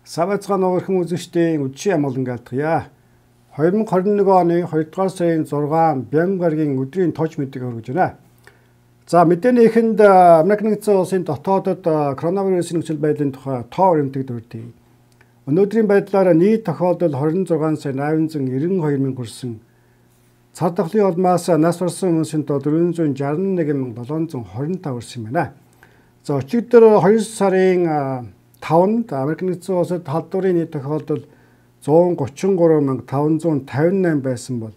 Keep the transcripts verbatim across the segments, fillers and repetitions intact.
Савацгаан ногорхон үзэгчдийн үдшийн амгалан гаалтгая. хоёр мың двадцать нэг оны хоёрдугаар сарын зургаан Бянган гарагийн өдрийн тож мэдээг хүргэж байна. За мэдээний эхэнд Америк нэгдсэн улсын дотоодод коронавирусын нөхцөл байдлын тухай тоо баримтыг дурдъя. Өнөөдрийн байдлаар нийт тохиолдол двадцать шесть сая восемь hundred ninety-two мянга хүрсэн. Цар тахлын улмаас нас барсан хүмүүсийн тоо four hundred sixty-one thousand seven hundred twenty-five хүрсэн байна. За өчигдөр хоёр сарын тавнд Америк нэгдсэн улсад халдварын нийт тохиолдол one hundred thirty-three thousand five hundred fifty-nine байсан бол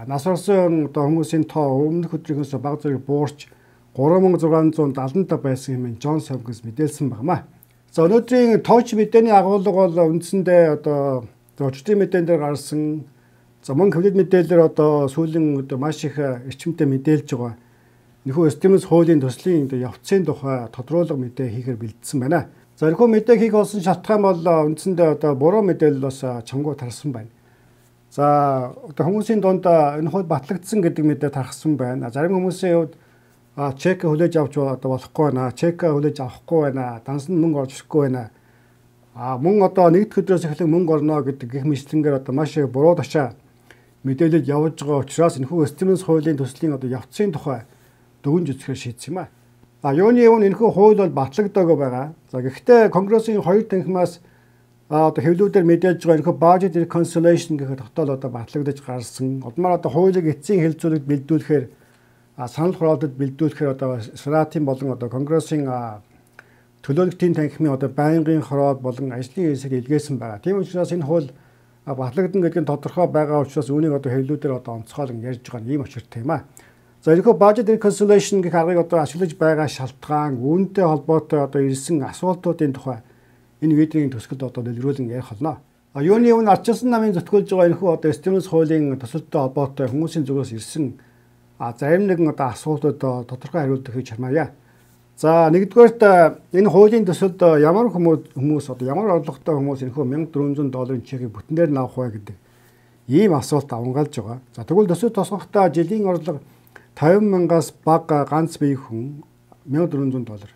нас барсан одоо хүмүүсийн тоо өмнөх өдрийнхөөс бага зэрэг буурч three thousand six hundred seventy-five байсан хэмээн Джонс Хопкинс мэдээлсэн багмаа. За өнөөдрийн тооч мэдээний агуулга бол үндсэндээ одоо зочдын мэдэн дээр гарсан за мөн ковид мэдээлэлээр одоо сүүлийн одоо маш их эрчимтэй мэдээлж байгаа. Энэхүү стимулс хуулийн төслийн явцын тухай тодруулга мэдээ хийхээр бэлдсэн байна. За энэхүү мэдээг хийх болсон шалтгаан бол үндсэндээ одоо буруу мэдээлэл бас чамгуу тарсан байна. За одоо хүмүүсийн дунд энэ хууль батлагдсан гэдэг мэдээ тархсан байна. Зарим хүмүүсийн хувьд чек хүлээж авч одоо болохгүй байна. Чек хүлээж авахгүй байна. Дансан мөнгө орж ирэхгүй байна. А мөн одоо нэгд өдрөөс эхлэн мөнгө орно гэдэг гэх мэтлэнгээр одоо маш их буруу ташаа мэдээлэл явуулж байгаа учраас энэхүү стимулс хуулийн төслийн одоо явцын тухай дүгнж үзэхээр шийдсэн юм а. А юуны өмнө энэхүү хууль бол батлагдаагүй байгаа. За гэхдээ Конгрессийн хоёр танхимаас одоо хэвлүүдээр мэдээж байгаа энэхүү budget reconciliation гэх тогтоол одоо батлагдаж гарсан. Удмаар одоо хуулийг эцсийн хэлэлцүүлэгт бэлдүүлэхээр санал хураалтад бэлдүүлэхээр одоо Сенатын болон одоо Конгрессийн төлөөлөгчдийн танхимын одоо байнгын хороод болон ажлын хэсэг илгээсэн байгаа. Тийм учраас энэ хууль батлагдана гэдэг нь тодорхой байгаа учраас үүнийг одоо хэвлүүдээр одоо онцгойлон ярьж байгаа юм учиртай юм а. За энэхүү budget reconciliation гэх аргыг одоо ашиглаж байгаа шалтгаан, үүнтэй холбоотой одоо ирсэн асуултуудын тухай энэ видеогийн төсөлд одоо дэлгэрүүлэн ярих болно. А юуны өмнө ардчилсан намын зөвтгүүлж байгаа энэхүү одоо стимулс хуулийн төсөлтөй холбоотой хүмүүсийн зүгээс ирсэн а зарим нэгэн одоо асуултууд тодорхой хариулт өгч чармаая. За нэгдүгээрт энэ хуулийн төсөлд ямар хүмүүс хүмүүс одоо ямар орлоготой хүмүүс энэхүү one thousand four hundred долларын чекийг бүтнээр нь авах вэ гэдэг ийм асуулт авангаалж байгаа. За тэгвэл төсөл тосгохдоо жилийн орлого fifty мянгаас бага ганц бие хүн one thousand four hundred доллар.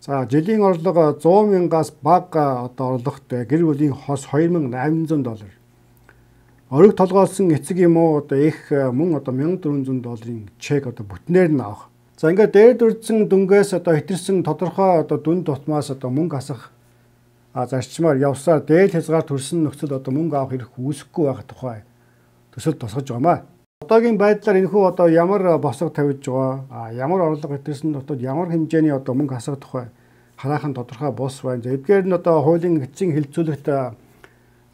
За жилийн орлого one hundred мянгаас бага одоо орлоготой гэр бүлийн хос two thousand eight hundred доллар. Ориг толгойлсон эцэг юм уу одоо их мөн одоо one thousand four hundred долларын чек одоо бүтнээр нь авах. За ингээд дээр дүрдсэн дүнгээс одоо хэтэрсэн тодорхой одоо дүн тутмаас одоо мөнгө асах а зарчмаар явсаар дээд хязгаар төрсэн нөхцөл одоо мөнгө авах хэрэг үүсэхгүй байх тухай төсөл тусгаж байгаамаа. Одоогийн байдлаар энэхүү одоо ямар босго тавьж байгаа а ямар орлого хэтэрсэн дотоод ямар хэмжээний одоо мөнгө асах тухай хараахан тодорхой бус байна. За эдгээр нь одоо хуулийн эцсийн хэлэлцүүлэгт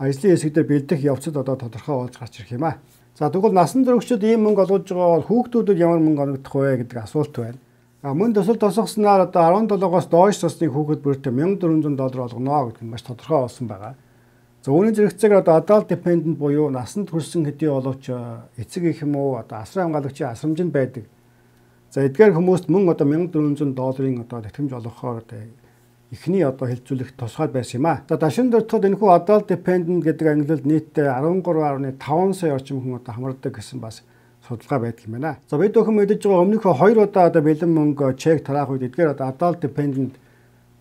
ажлын хэсэгдэр бэлдэх явцад одоо тодорхой болж гарч ирэх юм а. За тэгвэл насан туршид ийм мөнгө олгож байгаа бол хүүхдүүдэд ямар мөнгө оногдох вэ гэдэг асуулт байна. А мөн төсөл тосгосноор одоо seventeen-оос доош насны хүүхэд бүртээ one thousand four hundred доллар олгоно гэдэг нь маш тодорхой болсон байгаа. За үүний зэрэгцээгээр одоо adult dependent буюу насанд хүрсэн хэдий боловч эцэг их юм уу одоо асран хамгаалагчийн асрамжинд байдаг. За эдгээр хүмүүст мөн одоо one thousand four hundred долларын одоо тэтгэмж олгохоор одоо эхний одоо хэлцүүлэх тусгай байсан юм а. За дашин дөртөд энэхүү adult dependent гэдэг ангилалд нийтдээ thirteen point five сая орчим хүн одоо хамардаг гэсэн бас судалгаа байдаг юм байна. За бид өхөн мэдэж байгаа өмнөх хоёр удаа одоо бэлэн мөнгө чек тараах үед эдгээр одоо adult dependent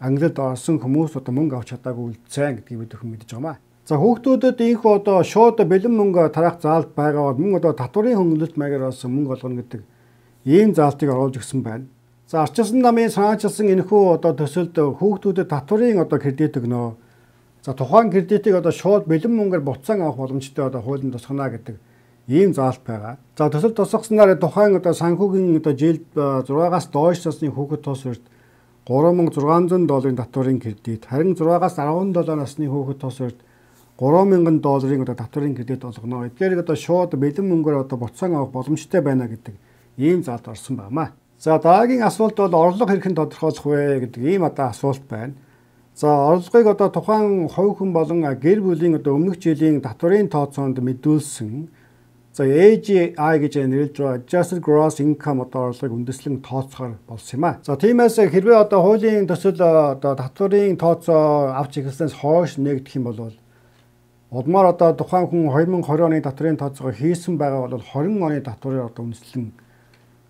ангилалд орсон хүмүүс одоо мөнгө авч чадаагүй үлдсэн гэдгийг бид өхөн мэдэж байгаа юм а. За хүүхдүүдэд ийхүү одоо шууд бэлэн мөнгө тараах заалт байгаа бол мөн одоо татварын хөнгөлөлт маягаар олсон мөнгө олгоно гэдэг ийм заалтыг оруулж өгсөн байна. За ардчилсан намын санаачилсан энэхүү одоо төсөлд хүүхдүүдэд татварын одоо кредит өгнө. За тухайн кредитийг одоо шууд бэлэн мөнгөөр буцаан авах боломжтой одоо хуулийн тусгана гэдэг ийм заалт байгаа. За төсөл тусгаснаар тухайн одоо санхүүгийн одоо жилд six-аас доош насны хүүхэд тус урьд three thousand six hundred долларын татварын кредит, харин six-аас seventeen насны хүүхэд тус урьд three thousand долларын одоо татварын кредит олгоно. Эдгээрийг одоо шууд бэлэн мөнгөөр одоо буцаан авах боломжтой байна гэдэг ийм заалт орсон байна. За дараагийн асуулт бол орлого хэрхэн тодорхойлох вэ гэдэг ийм одоо асуулт байна. За орлогыг одоо тухайн хувь хүн болон гэр бүлийн одоо өмнөх жилийн татварын тооцоонд мэдүүлсэн за A G I гэж нэрлэж байгаа Adjusted Gross Income одоо орлогыг үндэслэн тооцохоор болсон юм а. За тиймээс хэрвээ одоо хуулийн төсөл одоо татварын тооцоо авч эхэлснээс хойш нэгдэх юм бол удмаар одоо тухайн хүн twenty twenty оны татварын тооцоогоо хийсэн байгаа бол twenty оны татварыг одоо үндэслэн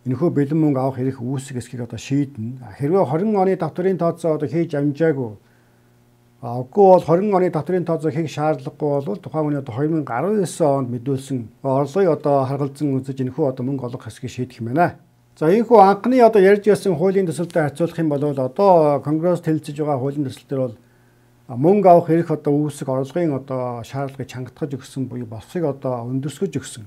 энэхүү бэлэн мөнгө авах хэрэг үүсэх эсхийг одоо шийднэ. Хэрвээ twenty оны татварын тооцоо одоо хийж амжаагүй Үгүй бол тwenty оны татврын тооцоо хийх шаардлагагүй бол тухайн хүний одоо twenty nineteen онд мэдүүлсэн орлогыг одоо харгалзан үзэж энэхүү одоо мөнгө олох хэсгийг шийдэх юм байна. За энэхүү анхны одоо ярьж байсан хуулийн төсөлтэй харьцуулах юм бол одоо Конгресс хэлэлцэж байгаа хуулийн төсөл төр бол мөнгө авах эрх одоо үүсэх орлогын одоо шаардлагыг чангатгаж өгсөн буюу босхийг одоо өндөрсгөж өгсөн.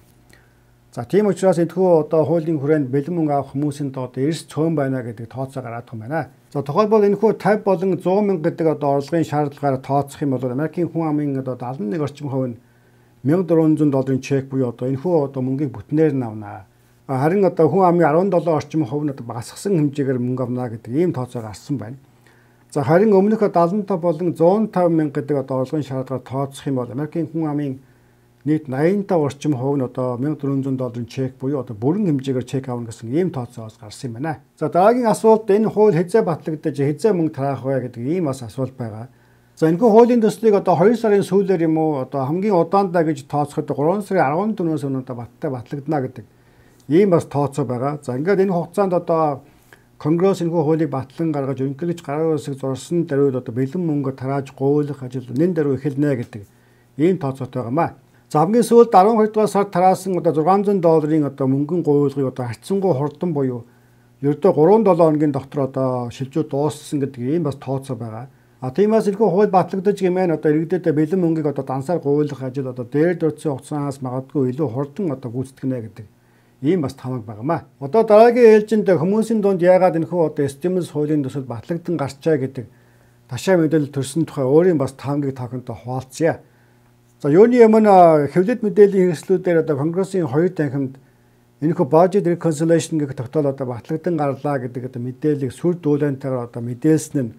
За тийм учраас энэхүү одоо хуулийн хүрээнд бэлэн мөнгө авах хүмүүсийн одоо эрс цөөн байна гэдэг тооцоо гараад байгаа юм байна. За тухайлбал энэхүү fifty болон one hundred мянга гэдэг одоо орлогын шаардлагаар тооцох юм бол Америкийн хүн амын одоо seventy-one орчим хувь нь one thousand four hundred долларын чек буюу одоо энэхүү одоо мөнгийг бүтнээр нь авна. Харин одоо хүн амын seventeen орчим хувь нь одоо багасгасан хэмжээгээр мөнгө авна гэдэг ийм тооцоо гарсан байна. За харин өмнөх seventy-five болон one hundred five мянга гэдэг одоо орлогын шаардлагаар тооцох юм бол Америкийн хүн амын нийт eighty-five орчим хувь нь одоо one thousand four hundred долларын чек буюу одоо бүрэн хэмжээгээр чек авна гэсэн ийм тооцоос гарсан юм байна. За дараагийн асуулт энэ хууль хэзээ батлагдаж хэзээ мөнгө тараах вэ гэдэг ийм бас асуулт байгаа. За энэхүү хуулийн төслийг одоо two сарын сүүлээр юм уу одоо хамгийн удаандаа гэж тооцоход three сарын fourteenөөс өнөөдөр баттай батлагдана гэдэг ийм бас тооцоо байгаа. За ингээд энэ хугацаанд одоо Конгресс энэхүү хуулийг батлан гаргаж өнөглөж гараа үсэг зурсан даруйд одоо бэлэн мөнгө тарааж гуйлах ажил нэн даруй эхэлнэ гэдэг ийм тооцоотой байгаамаа. За хамгийн сүүлд twelve дугаар сард тараасан одоо six hundred долларын одоо мөнгөн гуйлгыг одоо харьцангуй хурдан буюу ердөө three seven хоногийн дотор одоо шилжүү дууссан гэдэг ийм бас тооцоо байгаа. А тиймээс энэхүү хууль батлагдаж гэмээр одоо иргэдэд бэлэн мөнгийг одоо дансаар гуйлах ажил одоо дээр дөрцсөн хугацаанаас магадгүй илүү хурдан одоо гүйцэтгэнэ гэдэг ийм бас тамаг байгаамаа. Одоо дараагийн ээлжинд хүмүүсийн дунд яагаад энэхүү одоо стимулс хуулийн төсөл батлагдсан гарчаа гэдэг ташаа мэдээлэл төрсөн тухай өөрийн бас таамгийг тавхантай хуваалцъя. За юуны өмнө хэвлэл мэдээллийн хэрэгслүүдээр одоо Конгрессийн хоёр танхимд энэхүү budget reconciliation гэх тогтоол одоо батлагдсан гарлаа гэдэг одоо мэдээллийг сүр дүүлэнтэйгээр одоо мэдээлсэн нь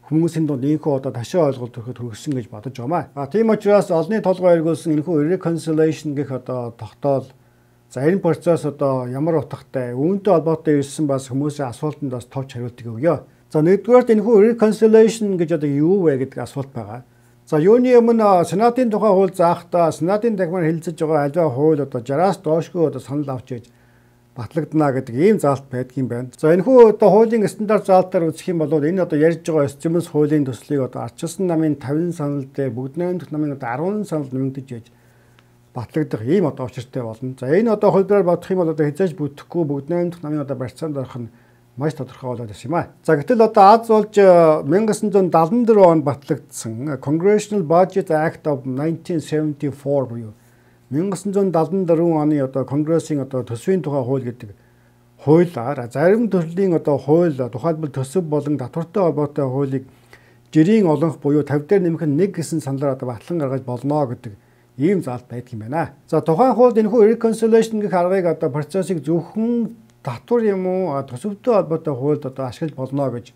хүмүүсийн дунд энэхүү одоо ташаа ойлголт төрөхөд хүргэсэн гэж бодож байна. А тийм учраас олонний толгой эргүүлсэн энэхүү reconciliation гэх одоо тогтоол за энэ процесс одоо ямар утгатай үүнтэй холбоотой ирсэн бас хүмүүсийн асуултанд бас товч хариултыг өгье. За нэгдүгээр энэхүү reconciliation гэж одоо юу вэ гэдэг асуулт байгаа. За юуны өмнө Сенатын тухай хууль заахтаа Сенатын дахимаар хэлэлцэж байгаа аливаа хууль одоо sixty-аас доошгүй одоо санал авч иж батлагдана гэдэг ийм заалт байдаг юм байна. За энэхүү одоо хуулийн стандарт заалтаар үзэх юм бол энэ одоо ярьж байгаа стимулс хуулийн төслийг одоо ардчилсан намын fifty санал дээр бүгд найрамдах намын одоо ten санал нэмэгдэж иж батлагдах ийм одоо учиртай болно. За энэ одоо хуулиар бодох юм бол одоо хязгаарч бүтэхгүй бүгд найрамдах намын одоо барьцаанд орох нь маш тодорхой болоод байна юм аа. За гэтэл одоо Аз болж nineteen seventy-four онд батлагдсан Congressional Budget Act of nineteen seventy-four буюу nineteen seventy-four оны одоо Конгрессийн одоо төсвийн тухай хууль гэдэг хуулиар зарим төрлийн одоо хууль тухайлбал төсөв болон татвартай холбоотой хуулийг жирийн олонх буюу fifty дээр нэмэх нь one гэсэн саналаар одоо батлан гаргаж болно гэдэг ийм заалт байдаг юм байна. За тухайн хууль энэхүү reconciliation гэх аргыг одоо процессыг зөвхөн татвар юм уу төсөвтэй холбоотой хуульд одоо ашиглаж болно гэж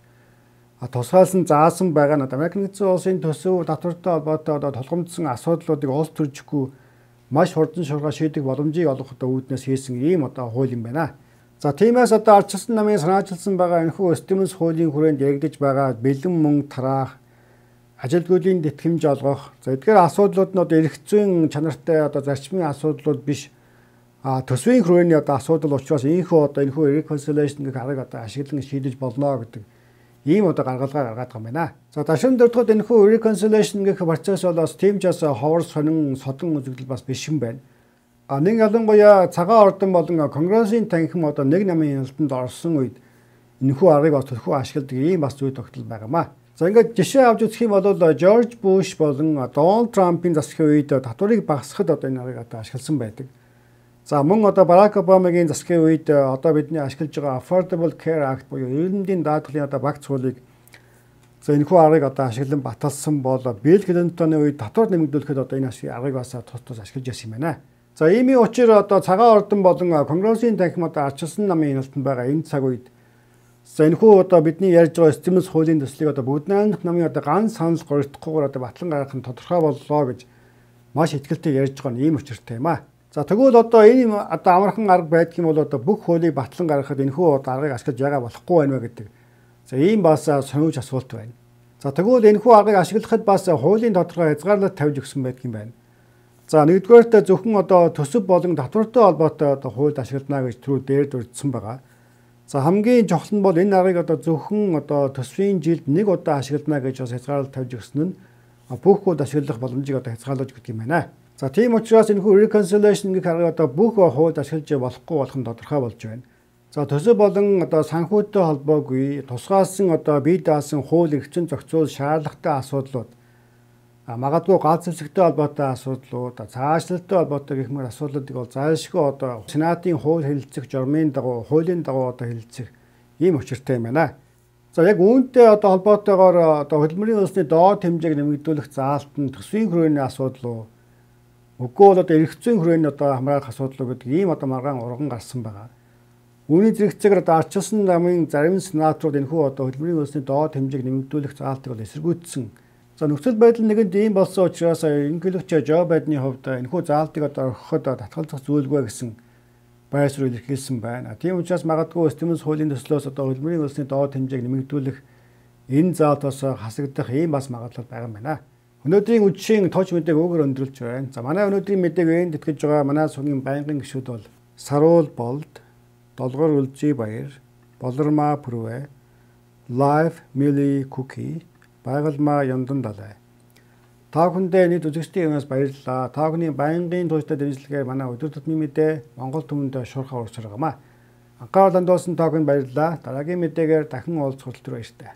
тусгаалсан заасан байгаа нь Америкийн нэгдсэн улсын төсөв татвартай холбоотой одоо толгомдсон асуудлуудыг улс төржихгүй маш хурдан шуурга шийдэх боломжийг олгох одоо үүднээс хийсэн ийм одоо хууль юм байна. За тиймээс одоо ардчилсан намын санаачилсан байгаа энэхүү стимулс хуулийн хүрээнд яригдж байгаа бэлэн мөнгө тараах ажилгүйдлийн тэтгэмж олгох за эдгээр асуудлууд нь одоо эрх зүйн чанартай одоо зарчмын асуудлууд биш А төсвийн хүрээний одоо асуудал учраас ийхүү одоо энэхүү reconciliation гэх аргыг одоо ашиглан шийдэж болно гэдэг ийм одоо гаргалгаа гаргаад байгаа юм байна. За дашин дөрөвдүгээр энэхүү reconciliation гэх процесс бол бас тийм ч бас ховор сонин содон үзэгдэл бас биш юм байна. А нэг ялангуяа цагаан ордон болон Конгрессийн танхим одоо нэг намын хяналтанд орсон үед энэхүү аргыг бас төлхөө ашигладаг ийм бас зүй тогтол байгаамаа. За ингээд жишээ авч үзэх юм бол Жорж Буш болон Дональд Трампын засгийн үед татварыг багасгахад одоо энэ аргыг одоо ашигласан байдаг. За мөн одоо Барак Обамагийн засгийн үед одоо бидний ашиглаж байгаа Affordable Care Act буюу эрдэмтдийн даатгалын одоо багц хуулийг за энэхүү аргыг одоо ашиглан баталсан бол Билл Клинтоны үед татвар нэмэгдүүлэхэд одоо энэ аргыг бас тус тус ашиглаж байсан юм байна. За иймийн учир одоо цагаан ордон болон Конгрессийн танхим одоо ардчилсан намын хяналтанд байгаа энэ цаг үед за энэхүү одоо бидний ярьж байгаа стимулс хуулийн төслийг одоо бүгд найрамдах намын одоо ганц санал горигдохгүйгээр одоо батлан гаргах нь тодорхой боллоо гэж маш ихтэй ярьж байгаа нь ийм учиртай юм аа. За тэгвэл одоо энэ одоо амархан арга байдаг юм бол одоо бүх хуулийг батлан гаргахад энэхүү одоо аргыг ашиглаж яагаад болохгүй байна вэ гэдэг. За ийм бас сониуч асуулт байна. За тэгвэл энэхүү аргыг ашиглахад бас хуулийн тодорхой хязгаарлалт тавьж өгсөн байдаг юм байна. За нэгдүгээрт зөвхөн одоо төсөв болон татвартай холбоотой одоо хуульд ашиглана гэж түрүү дээр дурдсан байгаа. За хамгийн чухал нь бол энэ аргыг одоо зөвхөн одоо төсвийн жилд нэг удаа ашиглана гэж бас хязгаарлалт тавьж өгсөн нь бүх хүнд ашиглах боломжийг одоо хязгаарлаж өгдөг юм байна. За тийм учраас энэ хүү reconciliation гэх аргыг одоо бүх хууль ашиглаж болохгүй болох нь тодорхой болж байна. За төсөв болон одоо санхүүтэй холбоогүй тусгаалсан одоо бие даасан хууль эрхчин зохицуул шаардлагатай асуудлууд магадгүй галз зэвсэгтэй холбоотой асуудлууд цаашлалтай холбоотой гэх мэт асуудлуудыг бол зайлшгүй одоо Сенатын хууль хэлэлцэх журмын дагуу хуулийн дагуу одоо хэлэлцэх ийм учиртай юм байна. За яг үүнтэй одоо холбоотойгоор одоо хөдөлмөрийн улсны доод хэмжээг нэмэгдүүлэх заалт нь төсвийн хүрээний асуудал уу үгүй бол одоо эрх зүйн хүрээний одоо хамгаалах асуудал уу гэдэг ийм одоо маргаан урган гарсан байгаа. Үүний зэрэгцээгээр одоо арчилсан намын зарим сенаторууд энэхүү одоо хөдөлмөрийн улсны доод хэмжээг нэмэгдүүлэх заалтыг бол эсэргүүцсэн. За нөхцөл байдал нэгэнд ийм болсон учраас инглэгч Жо Байдны хувьд энэхүү заалтыг одоо орхиход татгалзах зүйлгүй гэсэн байр суурь илэрхийлсэн байна. Тийм учраас магадгүй стимулс хуулийн төслөөс одоо хөдөлмөрийн улсны доод хэмжээг нэмэгдүүлэх энэ заалтаас хасагдах ийм бас магадлал байгаа юм байна. Өнөөдрийн үдшийн тооч мэдээг өгөр өндөрлж байна. За манай өнөөдрийн мэдээг энд итгэж байгаа манай сүмийн байнгын гишүүд бол Саруул Болд, Долгор Үлзий Баяр, Болормаа Пүрвэ, Live Millie Cookie, Байгалмаа Яндан Далай. Та бүхэндээ нийт үзэгчдийн юмас баярлалаа. Та бүхний байнгын тууштай дэмжлэгээр манай өдөр тутмын мэдээ Монгол түмэнд шуурхаа урагшрагамаа. Анхаарал хандуулсан та бүхэнд баярлалаа. Дараагийн мэдээгээр дахин уулзах хүртэл баяртай.